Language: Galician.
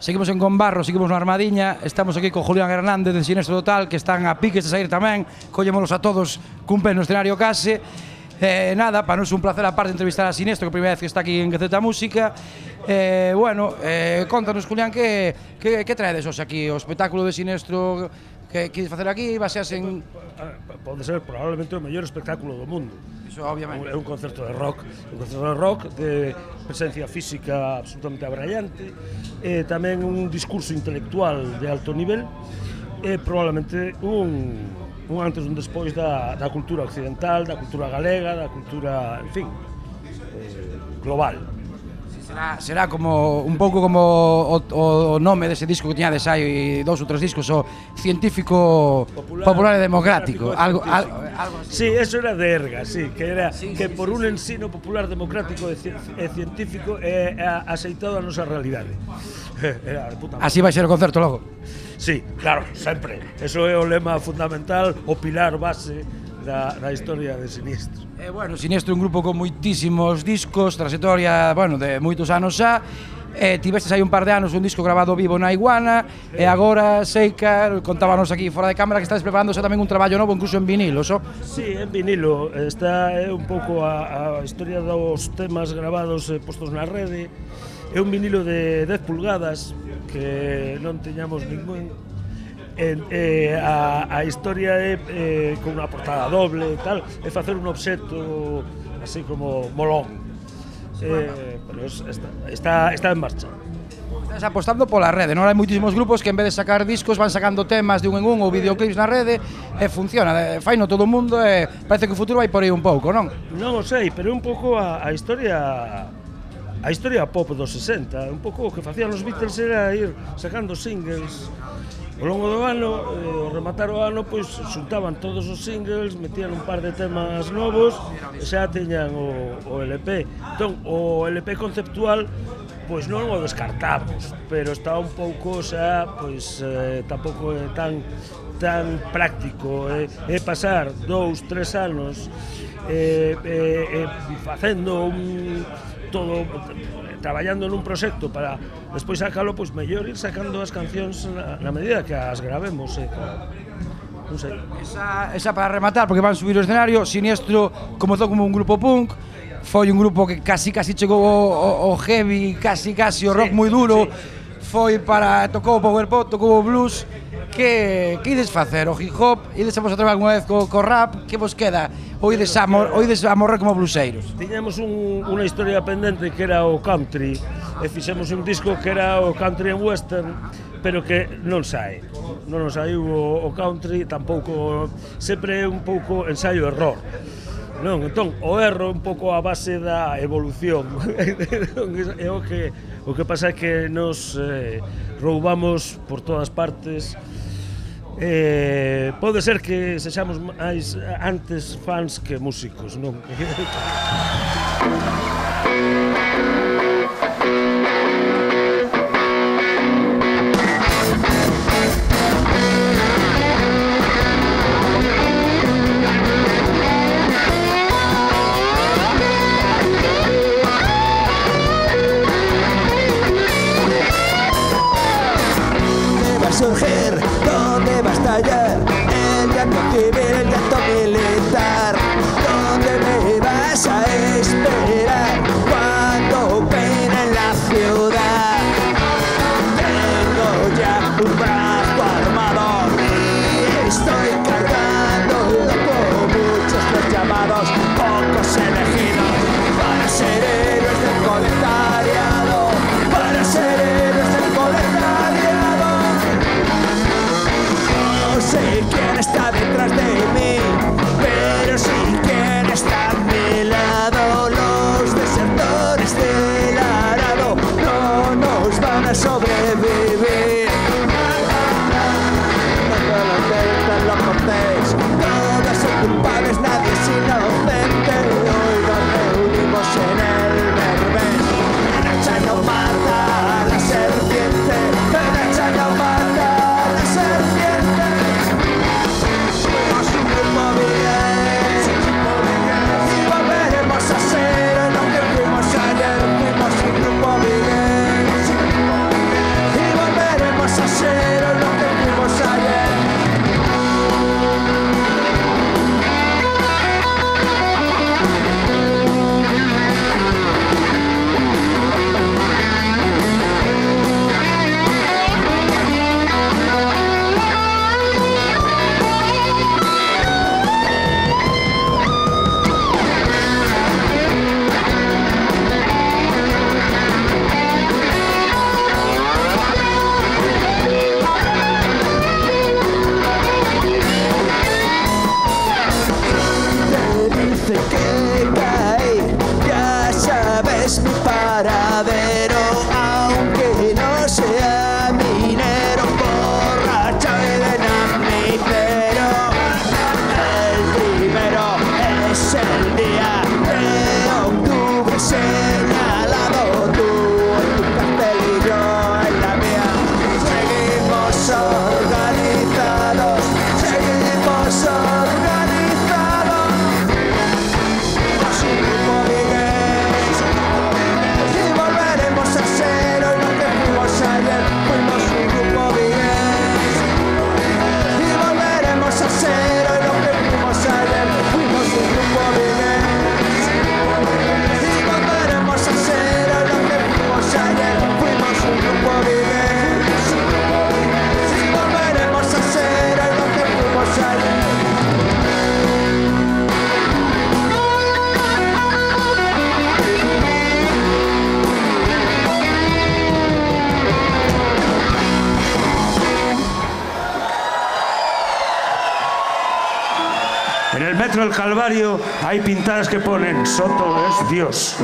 Seguimos en Gombarro, seguimos na Armadiña. Estamos aquí con Julián Hernández de Sinestro Total, que están a piques de sair tamén. Collémolos a todos cun pé no escenario case. Nada, para nos é un placer aparte entrevistar a Sinestro, que a primeira vez que está aquí en Gaceta Música. Contanos, Julián, que traedes hoxe aquí? O espectáculo de Sinestro que queres facer aquí, baseas en... Pode ser probablemente o mellor espectáculo do mundo. Iso, obviamente. É un concerto de rock, de presencia física absolutamente abrallante, tamén un discurso intelectual de alto nivel, e probablemente un antes e un despois da cultura occidental, da cultura galega, da cultura, en fin, global. Será como un pouco como o nome dese disco que tiñades hai 2 ou 3 discos, o Científico Popular e Democrático, algo así. Sí, eso era de Erga, sí, que era que por un ensino popular, democrático e científico é aceitado a nosa realidade. Así vai ser o concerto logo. Sí, claro, sempre. Eso é o lema fundamental, o pilar base da historia de Sinestro. Sinestro é un grupo con moitísimos discos, trayectoria, de moitos anos xa. Tivestes aí un par de anos un disco grabado vivo na Iguana, e agora Seica, contábanos aquí fora de cámara que estades preparándose tamén un traballo novo, incluso en vinilo, so? Sí, en vinilo. Está un pouco a historia dos temas grabados e postos na rede. É un vinilo de 10 pulgadas que non teñamos ningún. A historia é con unha portada doble e tal, é facer un obxecto así como molón, pero está en marcha. Estás apostando pola rede, non? Hai moitísimos grupos que en vez de sacar discos van sacando temas de un en un ou videoclips na rede e funciona, faino todo o mundo e parece que o futuro vai por aí un pouco, non? Non o sei, pero é un pouco a historia pop dos 60, un pouco o que facían os Beatles era ir sacando singles ao longo do ano, ao rematar o ano, pois xuntaban todos os singles, metían un par de temas novos e xa teñan o LP. Entón, o LP conceptual, pois non o descartamos, pero está un pouco xa, pois tampouco é tan práctico, é pasar 2, 3 anos facendo todo, traballando nun proxecto para despois sacalo, pois mellor ir sacando as cancións na medida que as gravemos, non sei. Esa para rematar, porque van subir o escenario. Sinestro comezou como un grupo punk, foi un grupo que casi chegou ao heavy, casi o rock moi duro, foi para, tocou o power pop, tocou o blues. Que ides facer? O hip hop? Ides a vos atrever alguna vez co rap? Que vos queda? Ou ides a morrer como bluseiros? Tiñamos unha historia pendente que era o country, e fixemos un disco que era o country and western, pero que non nos saiu o country, tampouco, sempre é un pouco ensaio-error. Non, entón, o erro é un pouco a base da evolución. É o que pasa é que nos roubamos por todas partes. Pode ser que sexamos máis antes fans que músicos, non? Surgir, ¿dónde va a estallar el llanto civil, el llanto militar? ¿Dónde me vas a esperar cuando En el metro del Calvario hay pintadas que ponen Soto es Dios.